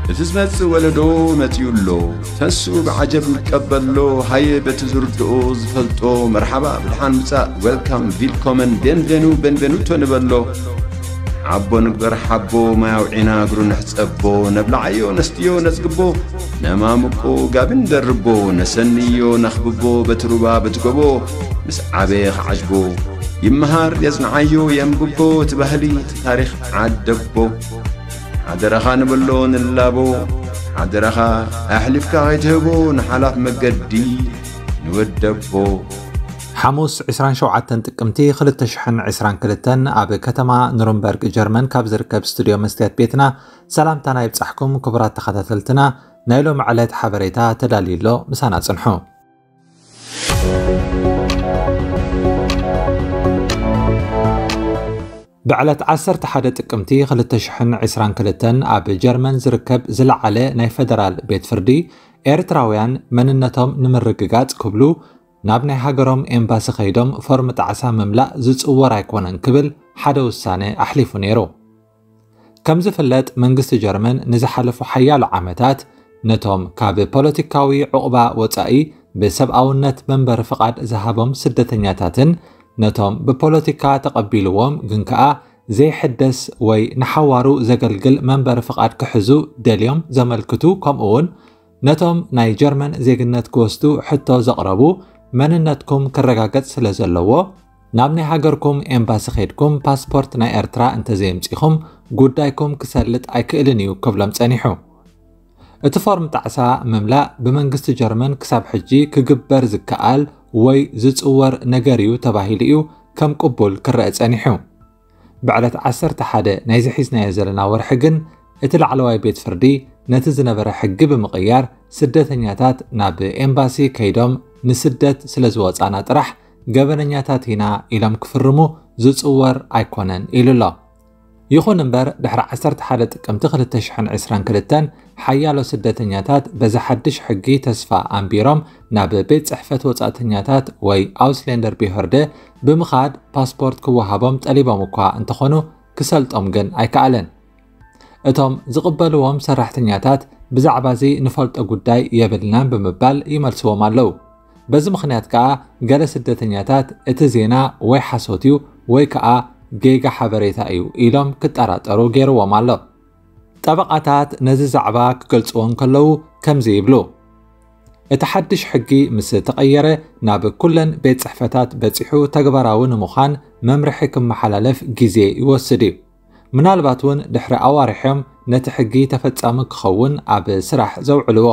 እቲ ዝመጽእ ወለዶ መጺኡ ኣሎ። ተስኡ ብዓጀብ ይቀበሎ። ሃየ በቲ ዝርድኦ ዝፈልጦ መርሓባ ብድሓን ምጻእ፣ ዌልካም፣ ቪልኮመን፣ ቤንቬኑ፣ ቤንቬኑቶ ንበሎ። ዓቦ ንግበር ሓቦ፣ ማይ ኣውዒና እግሩ ንሕጸቦ። ነብልዓዮ ነስትዮ ነጽግቦ፣ ነማምቆ ጋቢ ንደርቦ። ነሰንዮ ነኽብቦ በቲ ሩባ በቲ ጎቦ። ምስ ዓበየ ክዓጅቦ ይመሃር የጽንዓዮ የንብቦ። እቲ ባህሊ እቲ ታሪኽ ዓደቦ። ሓደራኻ ንበሎ ንላቦ። ሓደራኻ ኣሕሊፍካ ከይትህቦ ንሓላፍ መገዲ ንወደቦ። ሓሙስ ዕስራን ሸውዓተን ጥቅምቲ ክልተ ሽሕን ዕስራን ክልተን ኣብ ከተማ ኑርንበርግ ጀርመን ካብ ዝርከብ ስቱድዮ መስትያት ቤትና ሰላምታና ይብጻሕኩም ክቡራት ተኸታተልትና። ናይ ሎሚ ዕለት ሓበሬታ ተዳልዩ ኣሎ፣ ምሳና ጽንሑ። ብዕለት ዓሰርተ ሓደ ጥቅምቲ ክልተ ሽሕን ዕስራን ክልተን ኣብ ጀርመን ዝርከብ ዝለዓለ ናይ ፈደራል ቤት ፍርዲ፣ ኤርትራውያን መንነቶም ንምርግጋጽ ክብሉ ናብ ናይ ሃገሮም ኤምባሲ ከይዶም ፎርም ጣዕሳ ምምላእ ዝጽወር ኣይኮነን ክብል ሓደ ውሳነ ኣሕሊፉ ነይሩ። ከም ዝፍለጥ መንግስቲ ጀርመን ንዝሓለፉ ሓያሎ ዓመታት ነቶም ካብ ፖለቲካዊ ዕቑባ ወጻኢ ብሰብኣውነት መንበሪ ፍቓድ ዝሃቦም ስደተኛታትን ነቶም ብፖለቲካ ተቐቢልዎም ግን ከኣ ዘይሕደስ ወይ ንሓዋሩ ዘገልግል መንበሪ ፍቓድ ክሕዙ ደልዮም ዘመልክቱ፣ ከምኡ እውን ነቶም ናይ ጀርመን ዜግነት ክወስዱ ሕቶ ዘቕረቡ መንነትኩም ክረጋገጽ ስለ ዘለዎ ናብ ናይ ሃገርኩም ኤምባሲ ከይድኩም ፓስፖርት ናይ ኤርትራ እንተዘየምጺኹም ጉዳይኩም ክሰልጥ ኣይክእልን እዩ ክብሎም ጸኒሑ። እቲ ፎርም ጣዕሳ ምምላእ ብመንግስቲ ጀርመን ክሳብ ሕጂ ክግበር ዝከኣል ወይ ዝጽወር ነገር እዩ ተባሂሉ እዩ ከም ቅቡል ክረአ ጸኒሑ። ብዕለት ዓሰርተ ሓደ ናይዚ ሒዝናዮ ዘለና ወርሒ ግን እቲ ላዕለዋይ ቤት ፍርዲ ነቲ ዝነበረ ሕጊ ብምቕያር ስደተኛታት ናብ ኤምባሲ ከይዶም ንስደት ስለ ዝወጻና ጥራሕ ገበነኛታት ኢና ኢሎም ክፍርሙ ዝጽወር ኣይኮነን ኢሉ ኣሎ። ይኹን እምበር ድሕሪ ዓሰርተ ሓደ ጥቅምቲ ክልተ ሽሕን ዕስራን ክልተን ሓያሎ ስደተኛታት በዚ ሓድሽ ሕጊ ተስፋ ኣንቢሮም ናብ ቤት ጽሕፈት ወጻእተኛታት ወይ ኣውስሌንደር ቢሆርደ ብምኻድ ፓስፖርት ክወሃቦም ጠሊቦም እኳ እንተኾኑ ክሰልጦም ግን ኣይከኣለን። እቶም ዝቕበልዎም ሰራሕተኛታት ብዛዕባ እዚ ንፈልጦ ጉዳይ የብልናን ብምባል ይመልስዎም ኣለዉ። በዚ ምኽንያት ከኣ ገለ ስደተኛታት እቲ ዜና ወይ ሓሶት እዩ ወይ ከኣ ጌጋ ሓበሬታ እዩ ኢሎም ክጠራጠሩ ገይርዎም ኣሎ። ጠበቓታት ነዚ ዛዕባ ክገልጽዎ እንከለዉ ከምዚ ይብሉ። እቲ ሓድሽ ሕጊ ምስ ተቐየረ ናብ ኩለን ቤት ጽሕፈታት በጺሑ ተግባራዊ ንምዃን መምርሒ ክመሓላለፍ ግዜ ይወስድ እዩ። ምናልባት እውን ድሕሪ ኣዋርሕዮም ነቲ ሕጊ ተፈጻሚ ክኸውን ኣብ ስራሕ ዘውዕልዎ።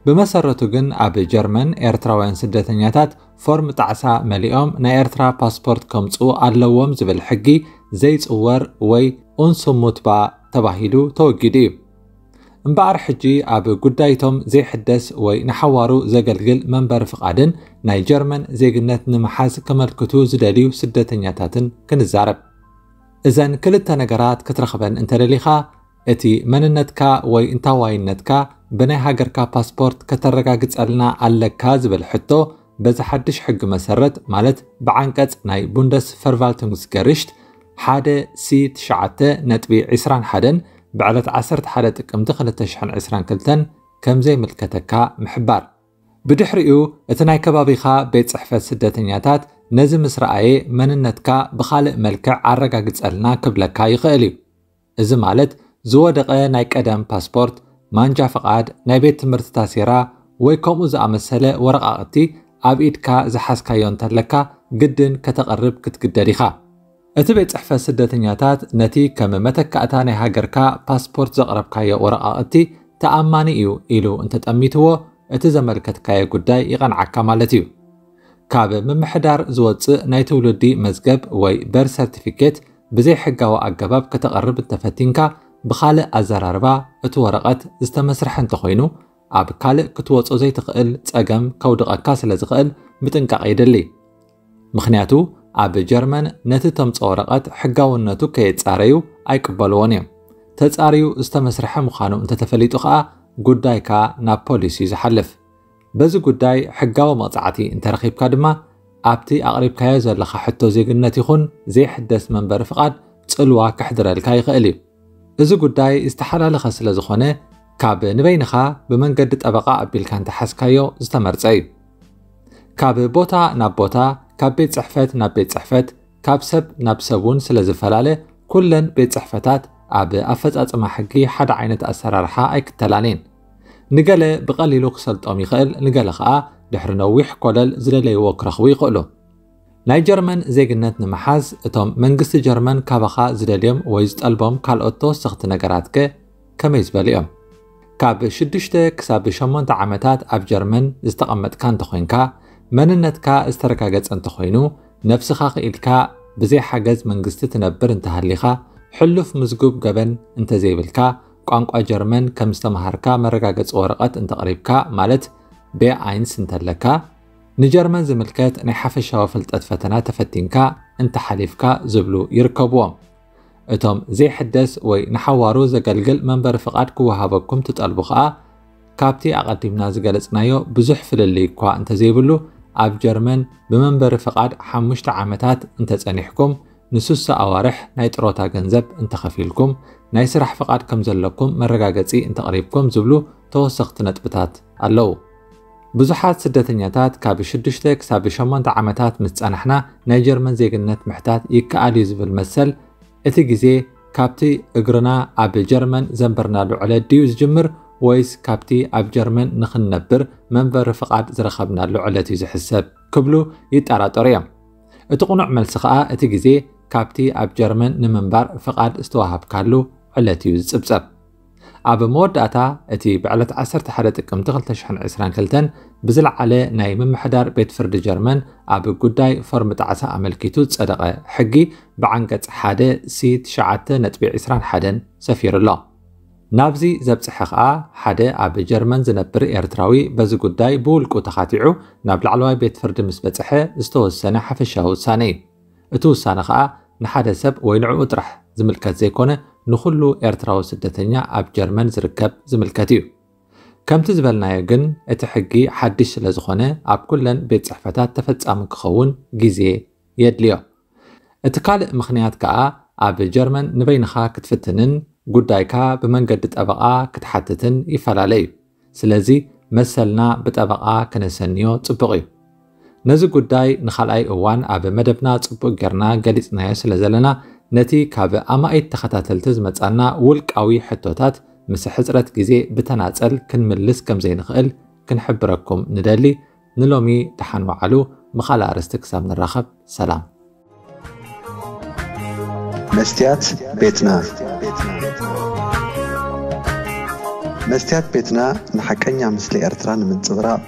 ብመሰረቱ ግን ኣብ ጀርመን ኤርትራውያን ስደተኛታት ፎርም ጣዕሳ መሊኦም ናይ ኤርትራ ፓስፖርት ከምጽኡ ኣለዎም ዝብል ሕጊ ዘይጽወር ወይ ኡንስሙትባ ተባሂሉ ተወጊዱ እዩ። እምበኣር ሕጂ ኣብ ጉዳይቶም ዘይሕደስ ወይ ንሓዋሩ ዘገልግል መንበሪ ፍቓድን ናይ ጀርመን ዜግነት ንምሓዝ ከመልክቱ ዝደልዩ ስደተኛታትን ክንዛረብ። እዘን ክልተ ነገራት ክትረኽበን እንተደሊኻ፣ እቲ መንነትካ ወይ እንታዋይነትካ ብናይ ሃገርካ ፓስፖርት ከተረጋግጸልና ኣለካ ዝብል ሕቶ በዚ ሓድሽ ሕጊ መሰረት፣ ማለት ብዓንቀጽ ናይ ቡንደስፈርቫልቱንግስገሪሽት ሓደ ሲ ትሽዓተ ነጥቢ ዕስራን ሓደን ብዕለት ዓሰርተ ሓደ ጥቅምቲ ክልተ ሽሕን ዕስራን ክልተን ከም ዘይምልከተካ ምሕባር። ብድሕሪኡ እቲ ናይ ከባቢኻ ቤት ጽሕፈት ስደተኛታት ነዚ ምስ ረኣየ መንነትካ ብኻልእ መልክዕ ኣረጋግጸልና ክብለካ ይኽእል እዩ። እዚ ማለት ዝወደቐ ናይ ቀደም ፓስፖርት፣ ማንጃ ፍቓድ፣ ናይ ቤት ትምህርቲ ታሴራ ወይ ከምኡ ዝኣመሰለ ወረቓቕቲ ኣብ ኢድካ ዝሓዝካዮ እንተለካ ግድን ከተቕርብ ክትግደድ ኢኻ። እቲ ቤት ጽሕፈት ስደተኛታት ነቲ ከም መተካእታ ናይ ሃገርካ ፓስፖርት ዘቕረብካዮ ወረቓቕቲ ተኣማኒ እዩ ኢሉ እንተጠሚትዎ፣ እቲ ዘመልከትካዮ ጉዳይ ይቐንዓካ ማለት እዩ። ካብ ምምሕዳር ዝወጽእ ናይ ትውልዲ መዝገብ ወይ በርት ሰርቲፊኬት ብዘይ ሕጋዊ ኣገባብ ከተቕርብ እንተፈቲንካ፣ ብኻልእ ኣዘራርባ እቲ ወረቐት ዝተመስርሐ እንተኾይኑ፣ ኣብ ካልእ ክትወጾ ዘይትኽእል ጸገም ከውድቐካ ስለ ዝኽእል ምጥንቃቕ የድሊ። ምኽንያቱ ኣብ ጀርመን ነቲ ተምጽኦ ወረቐት ሕጋውነቱ ከየጻረዩ ኣይቅበልዎን እዮም። ተጻርዩ ዝተመስርሐ ምዃኑ እንተተፈሊጡ ከኣ ጉዳይካ ናብ ፖሊስ እዩ ዝሓልፍ። በዚ ጉዳይ ሕጋዊ መቕጻዕቲ እንተረኺብካ ድማ ኣብቲ ኣቕሪብካዮ ዘለኻ ሕቶ ዜግነት ይኹን ዘይሕደስ መንበሪ ፍቓድ ጽልዋ ከሕድረልካ ይኽእል እዩ። እዚ ጉዳይ ዝተሓላለኸ ስለ ዝኾነ፣ ካብ ንበይንኻ ብመንገዲ ጠበቓ ኣቢልካ እንተሓዝካዮ ዝተመርጸ እዩ። ካብ ቦታ ናብ ቦታ፣ ካብ ቤት ጽሕፈት ናብ ቤት ጽሕፈት፣ ካብ ሰብ ናብ ሰብ እውን ስለ ዝፈላለ፣ ኩለን ቤት ጽሕፈታት ኣብ ኣፈጻጽማ ሕጊ ሓደ ዓይነት ኣሰራርሓ ኣይክተላን እየን። ንገለ ብቐሊሉ ክሰልጦም ይኽእል፣ ንገለ ኸኣ ድሕሪ ነዊሕ ኮለል ዝደለይዎ ክረኽቡ ይኽእሉ። ናይ ጀርመን ዜግነት ንምሓዝ፣ እቶም መንግስቲ ጀርመን ካባኻ ዝደልዮም ወይ ዝጠልቦም ካልኦት ተወሰኽቲ ነገራትከ ከመይ ዝበሉ እዮም? ካብ ሽዱሽተ ክሳብ ሸሞንተ ዓመታት ኣብ ጀርመን ዝተቐመጥካ እንተኾይንካ፣ መንነትካ ዝተረጋገጸ እንተኾይኑ፣ ነብስኻ ክኢልካ ብዘይ ሓገዝ መንግስቲ ትነብር እንተሃሊኻ፣ ሕሉፍ ምዝጉብ ገበን እንተዘይብልካ፣ ቋንቋ ጀርመን ከም ዝተምሃርካ መረጋገጺ ወረቐት እንተቕሪብካ፣ ማለት ቤ ኣይንስ እንተለካ፣ ንጀርመን ዝምልከት ናይ ሓፈሻዊ ፍልጠት ፈተና ተፈቲንካ እንተሓሊፍካ ዝብሉ ይርከብዎም። እቶም ዘይሕደስ ወይ ንሓዋሩ ዘገልግል መንበሪ ፍቓድ ክወሃበኩም ትጠልቡ ኸኣ፣ ካብቲ ኣቐዲምና ዝገለጽናዮ ብዙሕ ፍልልይ እኳ እንተዘይብሉ፣ ኣብ ጀርመን ብመንበሪ ፍቓድ ሓሙሽተ ዓመታት እንተጸኒሕኩም፣ ንሱሳ ኣዋርሕ ናይ ጥሮታ ገንዘብ እንተኸፊልኩም፣ ናይ ስራሕ ፍቓድ ከም ዘለኩም መረጋገጺ እንተቕሪብኩም ዝብሉ ተወሰኽቲ ነጥብታት ኣለዉ። ብዙሓት ስደተኛታት ካብ ሽዱሽተ ክሳብ ሸሞንተ ዓመታት ምስ ጸናሕና ናይ ጀርመን ዜግነት ምሕታት ይከኣል እዩ ዝብል መሰል፣ እቲ ግዜ ካብቲ እግርና ኣብ ጀርመን ዘንበርናሉ ዕለት ድዩ ዝጅምር፣ ወይስ ካብቲ ኣብ ጀርመን ንኽንነብር መንበሪ ፍቓድ ዝረኸብናሉ ዕለት እዩ ዝሕሰብ ክብሉ ይጠራጠሩ እዮም። እቲ ቅኑዕ መልሲ ኸኣ እቲ ግዜ ካብቲ ኣብ ጀርመን ንምንባር ፍቓድ ዝተዋሃብካሉ ዕለት እዩ ዝጽብጸብ። ኣብ መወዳእታ፣ እቲ ብዕለት ዓሰርተ ሓደ ጥቅምቲ ክልተ ሽሕን ዕስራን ክልተን ብዝለዓለ ናይ ምምሕዳር ቤት ፍርዲ ጀርመን ኣብ ጉዳይ ፎርም ጣዕሳ ኣመልኪቱ ዝጸደቐ ሕጊ ብዓንቀጽ ሓደ ሲ ትሽዓተ ነጥቢ ዕስራን ሓደን ሰፊሩ ኣሎ። ናብዚ ዘብጽሐ ኸኣ፣ ሓደ ኣብ ጀርመን ዝነብር ኤርትራዊ በዚ ጉዳይ ብውልቁ ተኻቲዑ ናብ ላዕለዋይ ቤት ፍርዲ ምስ በጽሐ ዝተወሰነ ሓፈሻዊ ውሳነ እዩ። እቲ ውሳነ ኸኣ ንሓደ ሰብ ወይ ንዕኡ ጥራሕ ዝምልከት ዘይኮነ፣ ንኹሉ ኤርትራዊ ስደተኛ ኣብ ጀርመን ዝርከብ ዝምልከት እዩ። ከምቲ ዝበልናዮ ግን፣ እቲ ሕጊ ሓድሽ ስለ ዝኾነ፣ ኣብ ኩለን ቤት ጽሕፈታት ተፈጻሚ ክኸውን ግዜ የድልዮ። እቲ ካልእ ምኽንያት ከኣ፣ ኣብ ጀርመን ንበይንኻ ክትፍትንን ጉዳይካ ብመንገዲ ጠበቓ ክትሓትትን ይፈላለ እዩ። ስለዚ፣ መሰልና ብጠበቓ ክነሰንዮ ጽቡቕ እዩ። ነዚ ጉዳይ ንኻልኣይ እዋን ኣብ መደብና ጽቡቕ ጌርና ገሊጽናዮ ስለ ዘለና፣ ነቲ ካብ ኣማኢት ተኸታተልቲ ዝመጻና ውልቃዊ ሕቶታት ምስ ሕጽረት ግዜ ብተናጸል ክንምልስ ከም ዘይንኽእል ክንሕብረኩም ንደሊ። ንሎሚ ደሓን ወዓሉ። ብኻልእ ኣርእስቲ ክሳብ ንራኸብ፣ ሰላም። መስትያት ቤትና። መስትያት ቤትና ንሓቀኛ ምስሊ ኤርትራ ንምንጽብራቕ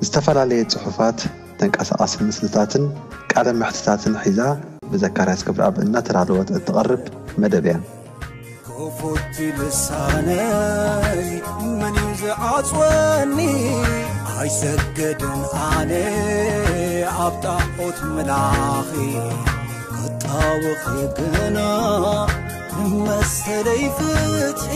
ዝተፈላለየ ጽሑፋት፣ ተንቀሳቓሲ ምስልታትን ቃለ መሕትታትን ሒዛ ብዘካርያስ ክብረኣብ እናተዳለወት እትቐርብ መደብ እያ። ክፉት ልሳነይ መን እዩ ዝዓጽወኒ? ኣይሰገድን ኣነ ኣብ ጣዖት ምላኺ ክጣወኺ ግና መሰለይ ፍትሒ